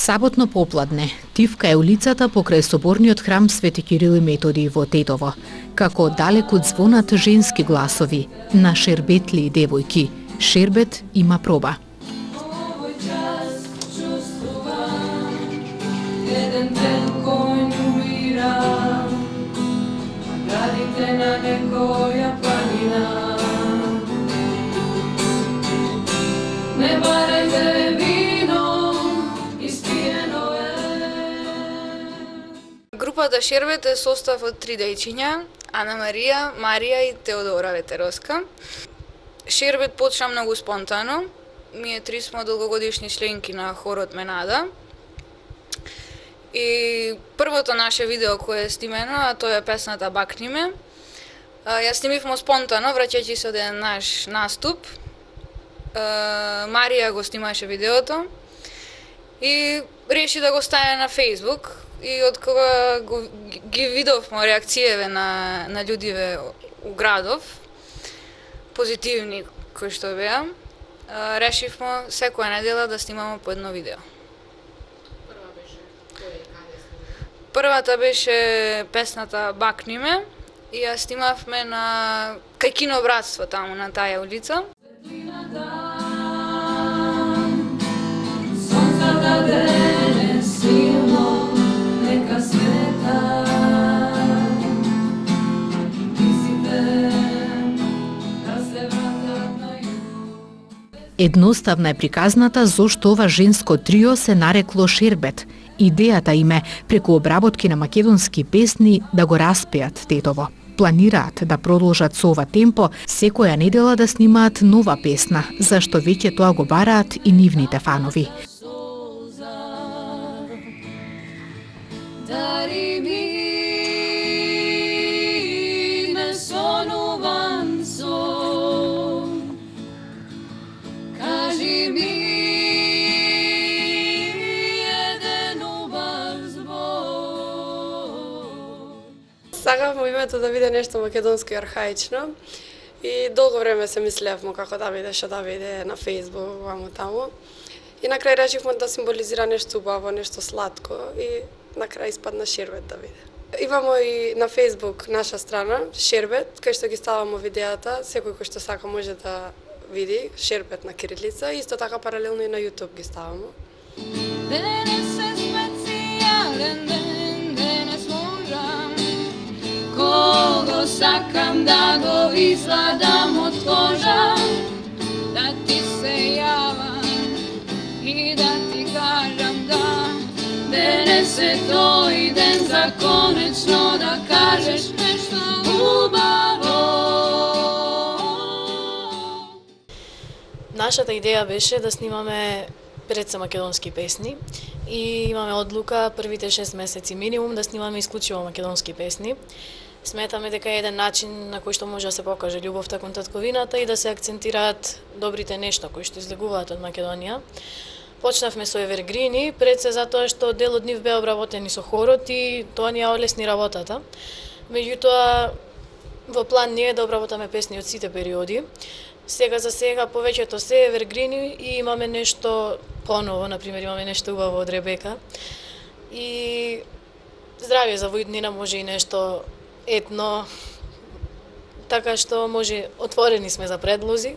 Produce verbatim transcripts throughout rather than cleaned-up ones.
Саботно попладне, тивка е улицата покрај соборниот храм Свети Кирил и Методи во Тетово, како далеку звонат женски гласови на шербетли девојки. Шербет има проба. Групата Шербет е состав од три дејчиња, Ана Марија, Марија и Теодора Ветеровска. Шербет почна многу спонтано. Ние три сме долгогодишни членки на хорот Менада. И првото наше видео кое е снимено, а тоа е песната Бакни ме, ја снимивме спонтано, враќајќи се од еден наш наступ. Марија го снимаше видеото и реши да го стави на Facebook. И од кога го, ги видовме реакцијеве на, на луѓиве у градов, позитивни кои што беа, решивме секоја недела да снимаме по едно видео. Прва беше кој каде снимавме? Првата беше песната Бакни ме и ја снимавме на кај Кино Братство, таму на таа улица. Едноставна е приказната зошто ова женско трио се нарекло Шербет. Идејата им е преку обработки на македонски песни да го распеат Тетово. Планираат да продолжат со ова темпо, секоја недела да снимаат нова песна, зашто веќе тоа го бараат и нивните фанови. Сакавме името да биде нешто македонско и архаично и долго време се мислевме како да биде, што да биде на Facebook, ваму таму. И на крај решивме да символизира нешто убаво, нешто сладко и на крај испадна Шербет да биде. Имаме и на Facebook наша страна, Шербет, кај што ги ставаме видеата, секој кој што сака може да види Шербет на кирилица, исто така паралелно и на YouTube ги ставаме. Кого сакам да го изладам од кожа, да ти се јавам и да ти кажам да, денес е тој ден за конечно да кажеш нешто убаво. Нашата идеја беше да снимаме пред се македонски песни и имаме одлука првите шест месеци минимум да снимаме исклучиво македонски песни. Сметаме дека е еден начин на кој што може да се покаже љубовта кон татковината и да се акцентираат добрите нешта кои што излегуваат од Македонија. Почнавме со евергрини, пред се затоа што дел од нив беа обработени со хорот и тоа ни ја олесни работата. Меѓутоа, во план ни е да обработаме песни од сите периоди. Сега за сега повеќето се евергрини и имаме нешто поново, например имаме нешто убаво од Ребека. И здравје за во иднина може и нешто етно, така што може, отворени сме за предлози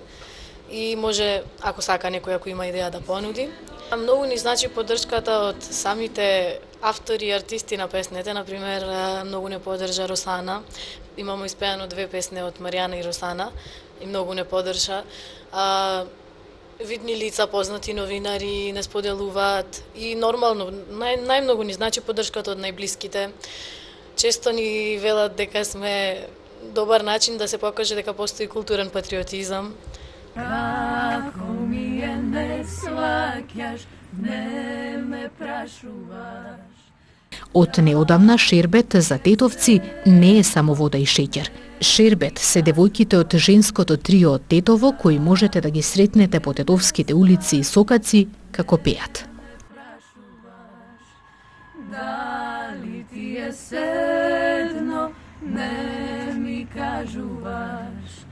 и може, ако сака некој, ако има идеја да понуди. Многу ни значи поддршката од самите автори и артисти на песните, например, многу не поддржа Росана. Имамо испеано две песни од Маријана и Росана и многу не поддржа. А, видни лица, познати новинари не споделуваат и нормално, нај, најмногу ни значи поддршката од најблиските. Често ни велат дека сме добар начин да се покаже дека постои културен патриотизам. Како ми е не сваќаш, не ме прашуваш. Од неодамна Шербет за тетовци не е само вода и шеќер. Шербет се девојките од женското трио од Тетово кои можете да ги сретнете по тетовските улици и сокаци како пеат. Дали ти е седно, не ми кажуваш.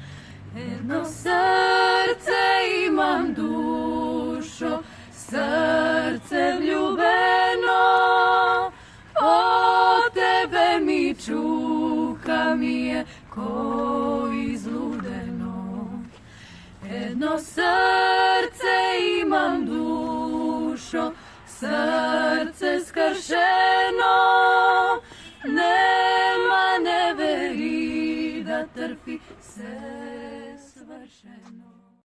Едно срце имам, душо, срце влюбено. и чука ми е ко излудено. Едно срце имам, душо, срце скршено, нема, не вери да трпи се свршено.